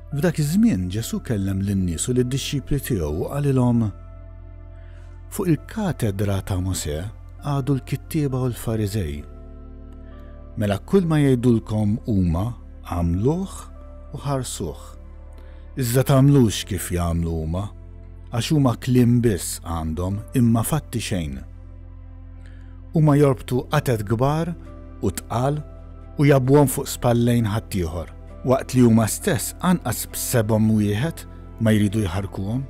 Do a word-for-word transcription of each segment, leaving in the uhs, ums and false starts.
F'dak iż-żmien Ġesù kellem lin-nies u lid-dixxipli tiegħu u qalilhom: Fuq il-katedra ta' Mosè għadu l-kittieba u l-Fariżej. Mela kull ma jgħidulkom huma għamluh u ħarsuh. Iżda tagħmlux kif jagħmlu huma, għax huma kliem biss għandhom imma fatti xejn. Huma jorbtu qatet kbar u tqal u jgħabbuhom fuq spallejn ħaddieħor, waqt li huma stess anqas b'sebgħhom wieħed ma jridu jħarkuhom.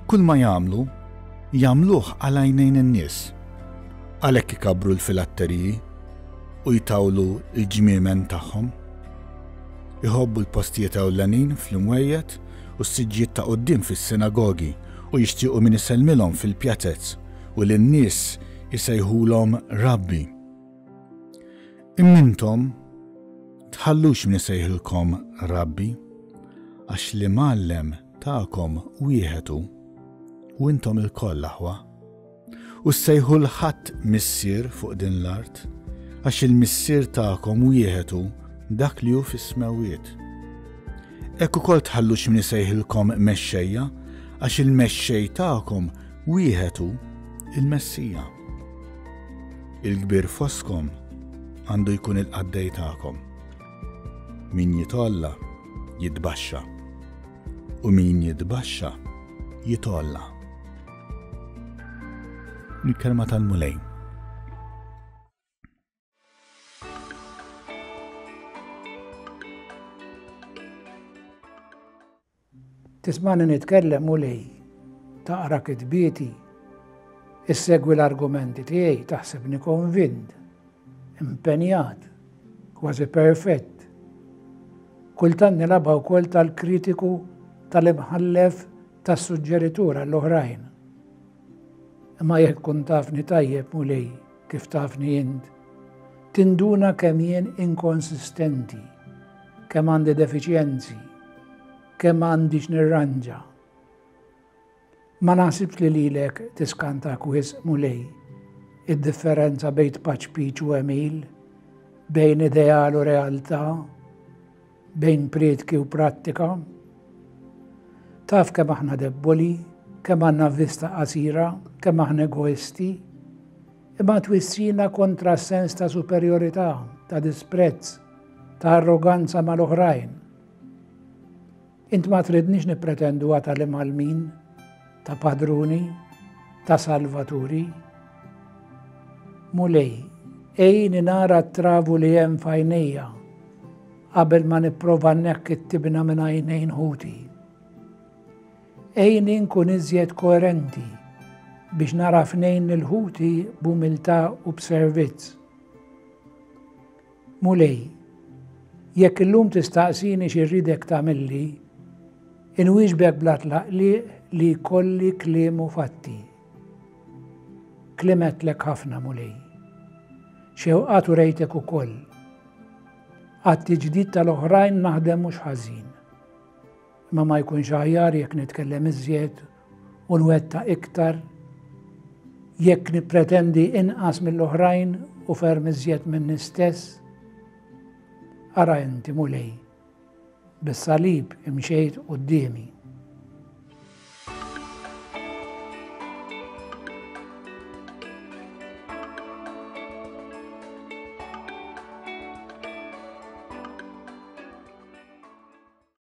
Kull ma jagħmlu, jagħmluh għal għajnejn in-nies. Għalhekk ikabbru l-filatteriji u jtawlu l-ġmiemen tagħhom. Iħobbu l-postijiet ewlenin fl-imwejjed u s-siġġijiet ta' quddiem fis-sinagogi u jixtiequ min isellmilhom fil-pjazez u lin-nies isejħulhom Rabbi. Imma intom tħallux min isejħilkom Rabbi, għax l-imgħallem tagħkom wieħed hu, u intom ilkoll aħwa. U ssejħu 'l ħadd missier fuq din l-art, għax il-missier tagħkom wieħed hu, dak li hu fis-smewwiet. Hekk ukoll tħallux min isejħilkom mexxejja, għax il-mexxej tagħkom wieħed hu, il-Messija. Il-kbir fostkom għandu jkun il-qaddej tagħkom. Min jitgħolla jitbaxxa, u min jitbaxxa jitgħolla. Il-kelma tal-Mulej. Tismani nitkellem, Mulej, taqra kitbieti, issegwi l-argumenti tiegħi, taħsebni konvint, impenjat, kważi perfett. Kultant nilgħabha wkoll tal-kritiku, tal-imħallef, tas-suġġeritur għall-oħrajn. Imma jekk tkun tafni tajjeb, Mulej, kif tafni int, tinduna kemm jien inkonsistenti, kemm għandi defiċjenzi, kemm għandi x'nirranġa. Ma naħsibx li lilek tiskantak wisq, Mulej, id-differenza bejn tpaċpiċ u għemil, bejn ideal u realtà, bejn prietki u prattika. Taf kemm aħna debboli, kemm għandna vista qasira, kemm aħna egoisti, imma twissina kontra s-sens ta' superjorità, ta' disprezz, ta' arroganza mal-oħrajn. Int ma tridniex nippretendu tal-imgħallmin, ta' padruni, ta' salvaturi. Mulej, għinni nara t-travu li hemm f'għajnejja qabel ma nipprova nneħħi t-tibna minn għajnejn ħuti. Għinni nkun iżjed koerenti biex nara f'għajnejn lil ħuti b'umiltà u b'servizz. Mulej, jekk illum tistaqsini x'irridek tagħmilli, inwieġbek bla tlaqliq li kolli kliem u fatti. Kliem għedtlek ħafna, Mulej. Xewqat urejtek ukoll. Għat-tiġdid tal-oħrajn naħdem mhux ħażin. Imma ma jkunx aħjar jekk nitkellem iżjed u nwettaq iktar, jekk nippretendi inqas mill-oħrajn u ferm iżjed minni stess? Ara inti, Mulej, bis-salib imxejt quddiemi.